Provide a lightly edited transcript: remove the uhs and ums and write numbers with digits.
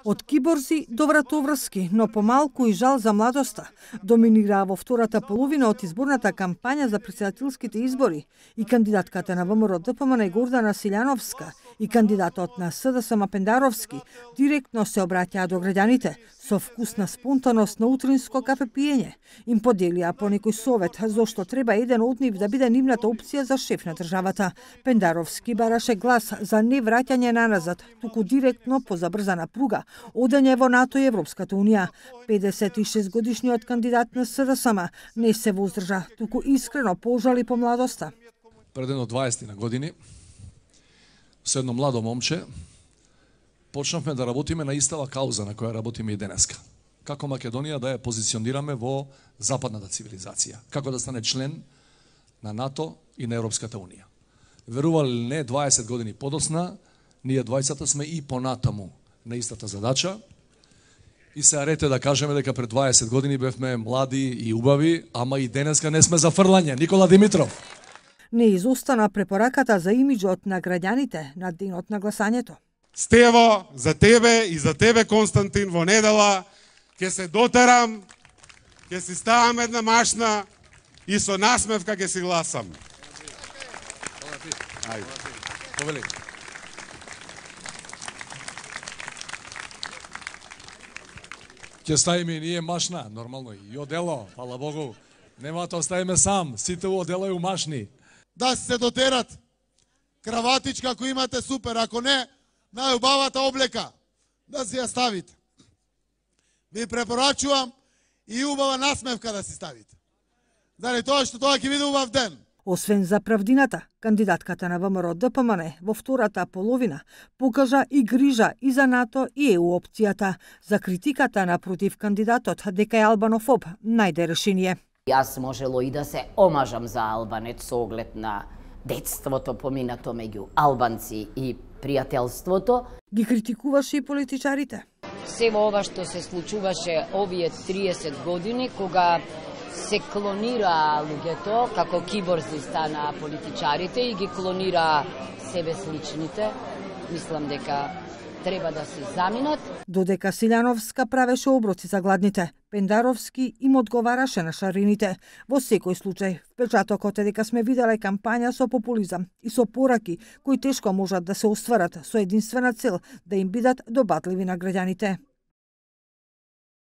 Од киборзи до вратоврски, но помалку и жал за младоста, доминираа во втората половина од изборната кампања за претседателските избори и кандидатката на ВМРО ДПМН Гордана Силјановска и кандидатот на СДСМ Пендаровски директно се обраќаа до граѓаните со вкусна спонтаност на утринско кафе пиење. Им поделија по некој совет зошто треба еден од нив да биде нивната опција за шеф на државата. Пендаровски бараше глас за не враќање наназад, туку директно по забрзана пруга, одење во НАТО и Европската унија. 56 годишниот кандидат на СДСМ не се воздржа, туку искрено пожали по младоста. Пред едно 20 на години, со едно младо момче, почнавме да работиме на истава кауза на која работиме и денеска. Како Македонија да ја позиционираме во западната цивилизација, како да стане член на НАТО и на Европската унија. Верували ли не, 20 години подосна, ние двајцата сме и понатаму на истата задача. И се арете да кажеме дека пред 20 години бевме млади и убави, ама и денеска не сме за фрлање. Никола Димитров. Не изостана препораката за имиџот на граѓаните на денот на гласањето. Стево, за тебе и за тебе, Константин, во недела ќе се дотерам, ќе си ставам една машна и со насмевка ќе си гласам. Повели. Ќе ставиме и ние машна, нормално, и одело, фала Богу. Нема да оставиме сам, сите одело и машни. Да се дотерат. Краватичка, ако имате, супер, ако не, најубавата облека, да си ја ставите. Ви препорачувам и убава насмевка да си ставите. Заради тоа што тоа ќе биде убав ден. Освен за правдината, кандидатката на ВМРО ДПМН во втората половина покажа и грижа и за НАТО и ЕУ опцијата. За критиката на против кандидатот дека е албанофоб најде решение. Јас можело и да се омажам за албанец со оглед на детството поминато меѓу албанци и пријателството. Ги критикуваше и политичарите. Се во ова што се случуваше овие 30 години, кога се клонира луѓето, како киборзи стана политичарите и ги клонира себе сличните. Мислам дека треба да се заминат. Додека Силјановска правеше оброци за гладните, Пендаровски им одговараше на шарините. Во секој случај, впечатокот е дека сме виделе кампања со популизам и со пораки кои тешко можат да се остварат со единствена цел да им бидат добатливи на граѓаните.